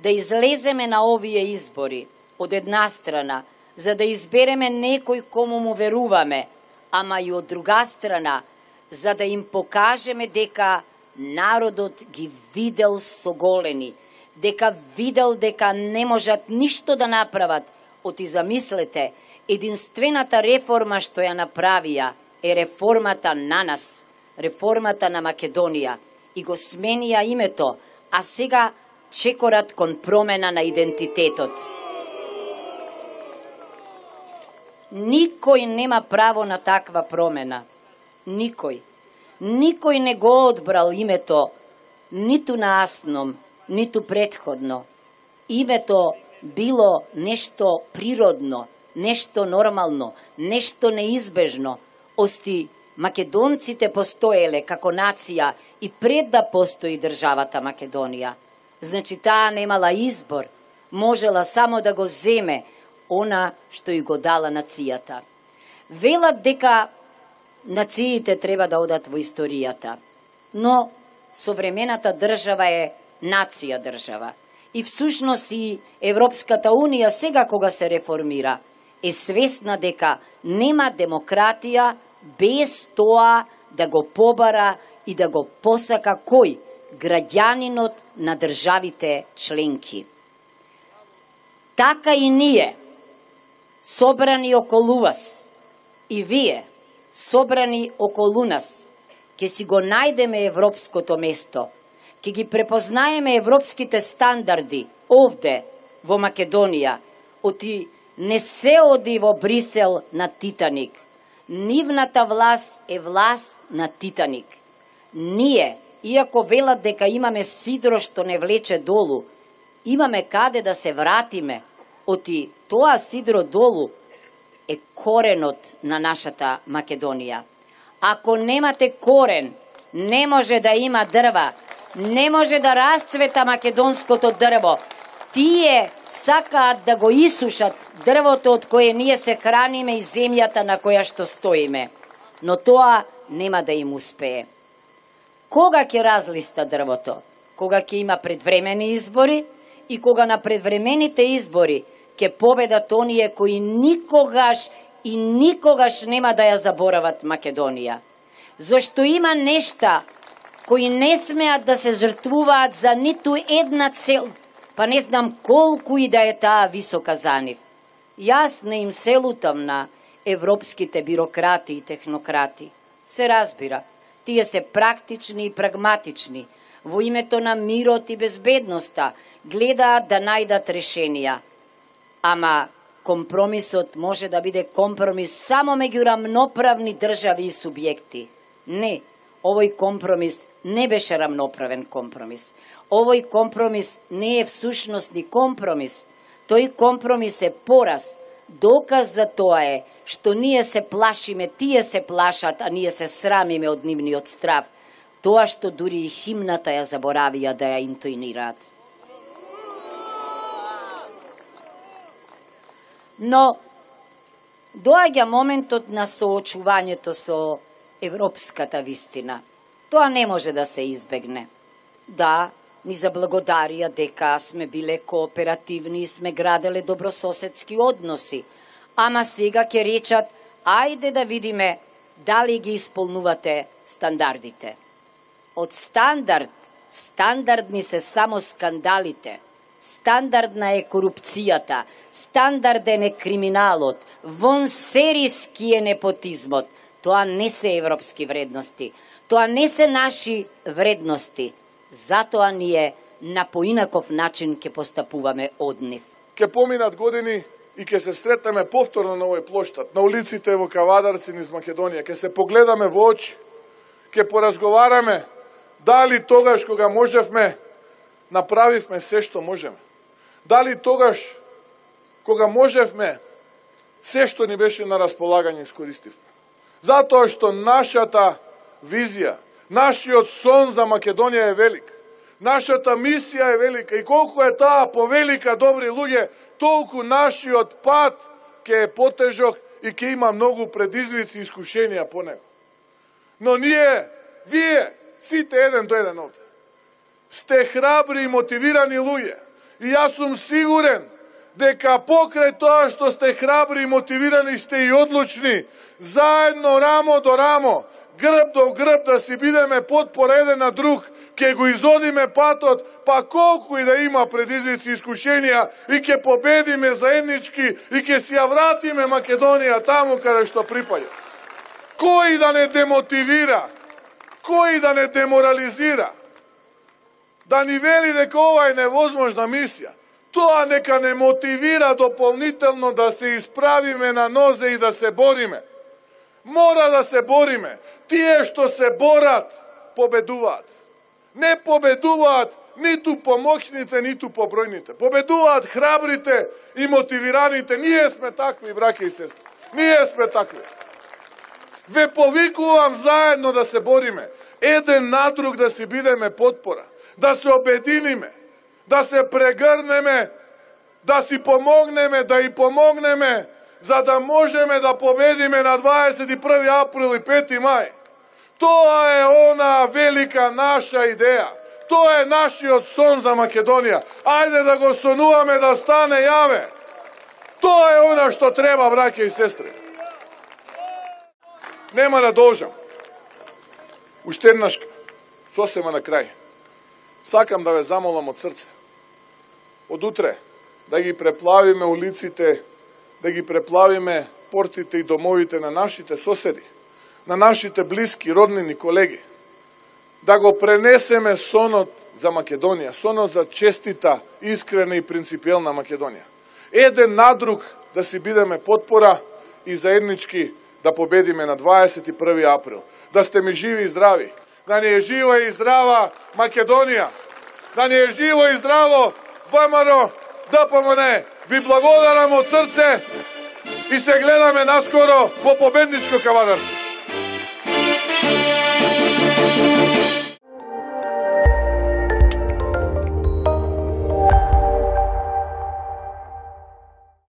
да излеземе на овие избори од една страна, за да избереме некој кому му веруваме, ама и од друга страна, за да им покажеме дека народот ги видел соголени, дека видел дека не можат ништо да направат. Оти замислете, единствената реформа што ја направија е реформата на нас, реформата на Македонија, и го сменија името, а сега чекорат кон промена на идентитетот. Никој нема право на таква промена. Никој. Никој не го одбрал името, ниту на Асном, ниту предходно. Името било нешто природно, нешто нормално, нешто неизбежно. Ости македонците постоеле како нација и пред да постои државата Македонија. Значи таа немала избор, можела само да го земе она што и го дала нацијата. Велат дека нациите треба да одат во историјата, но современата држава е нација држава. И всушност и Европската Унија сега кога се реформира е свесна дека нема демократија без тоа да го побара и да го посака кој? Граѓанинот на државите членки. Така и ние, собрани околу вас, и вие, собрани околу нас, ќе си го најдеме европското место, ќе ги препознаеме европските стандарди овде во Македонија. Оти не се оди во Брисел на Титаник. Нивната власт е власт на Титаник. Ние, иако велат дека имаме сидро што не влече долу, имаме каде да се вратиме. Оти тоа сидро долу е коренот на нашата Македонија. Ако немате корен, не може да има дрва, не може да расцвета македонското дрво. Тие сакаат да го исушат дрвото од кое ние се храниме и земјата на која што стоиме. Но тоа нема да им успее. Кога ќе разлиста дрвото? Кога ќе има предвремени избори и кога на предвремените избори ќе победат оние кои никогаш и никогаш нема да ја заборават Македонија. Зошто има нешта кои не смеат да се жртвуваат за ниту една цел, па не знам колку и да е таа висока за нив. Јас не им се лутам на европските бирократи и технократи. Се разбира, тие се практични и прагматични. Во името на мирот и безбедноста гледаат да најдат решенија. Ама компромисот може да биде компромис само меѓу рамноправни држави и субјекти. Не, овој компромис не беше рамноправен компромис. Овој компромис не е всушност ни компромис. Тој компромис е пораз. Доказ за тоа е што ние се плашиме, тие се плашат, а ние се срамиме од нивниот страв. Тоа што дури и химната ја заборавија да ја интонираат. Но доаѓа моментот на соочувањето со европската вистина. Тоа не може да се избегне. Да, ни заблагодарија дека сме биле кооперативни и сме граделе добрососедски односи, ама сега ќе речат, ајде да видиме дали ги исполнувате стандардите. Од стандардни се само скандалите. Стандардна е корупцијата, стандарден е криминалот, вонсериски е непотизмот. Тоа не се европски вредности, тоа не се наши вредности. Затоа ние на поинаков начин ќе постапуваме од нив. Ќе поминат години и ќе се сретнеме повторно на овој плоштад, на улиците во Кавадарци низ Македонија. Ќе се погледаме во очи, ќе поразговараме дали тогаш кога можевме направивме се што можеме. Дали тогаш кога можевме се што ни беше на располагање искористивме. Затоа што нашата визија, нашиот сон за Македонија е велик. Нашата мисија е велика и колку е таа повелика, добри луѓе, толку нашиот пат ќе е потежок и ќе има многу предизвици и искушенија по него. Но ние, вие, сите еден до еден овде, сте храбри и мотивирани луѓе И јас сум сигурен дека покрај тоа што сте храбри и мотивирани сте и одлучни, заедно рамо до рамо, грб до грб да си бидеме потпора еден на друг, ќе го изодиме патот, па колку и да има предизвици и искушенија, и ќе победиме заеднички, и ќе си ја вратиме Македонија таму каде што припаѓа. Кој да не демотивира, кој да не деморализира, да ни вели дека ова е невозможна мисија, тоа нека не мотивира дополнително да се исправиме на нозе и да се бориме. Мора да се бориме. Тие што се борат, победуваат. Не победуваат ниту помоќните, ниту побројните. Победуваат храбрите и мотивираните. Ние сме такви, браќа и сестри. Ние сме такви. Ве повикувам заедно да се бориме. Еден на друг да си бидеме потпора. Да се обединиме. Да се прегрнеме. Да си помогнеме, да и помогнеме, за да можеме да победиме на 21. април и 5. мај. Тоа е она велика наша идеја. Тоа е нашиот сон за Македонија. Ајде да го сонуваме да стане јаве. Тоа е она што треба, браќа и сестри. Нема да должам. Уште еднаш, сосема на крај. Сакам да ве замолам од срце. Од утре да ги преплавиме улиците, да ги преплавиме портите и домовите на нашите соседи, на нашите блиски, роднини, колеги. Да го пренесеме сонот за Македонија, сонот за честита, искрена и принципиелна Македонија. Еден на друг да си бидеме потпора и заеднички да победиме на 21. април. Да сте ми живи и здрави. Да ни е жива и здрава Македонија. Да ни е живо и здраво ВМРО ДПМН. Ви благодарам од срце и се гледаме наскоро во победничко Кавадарци.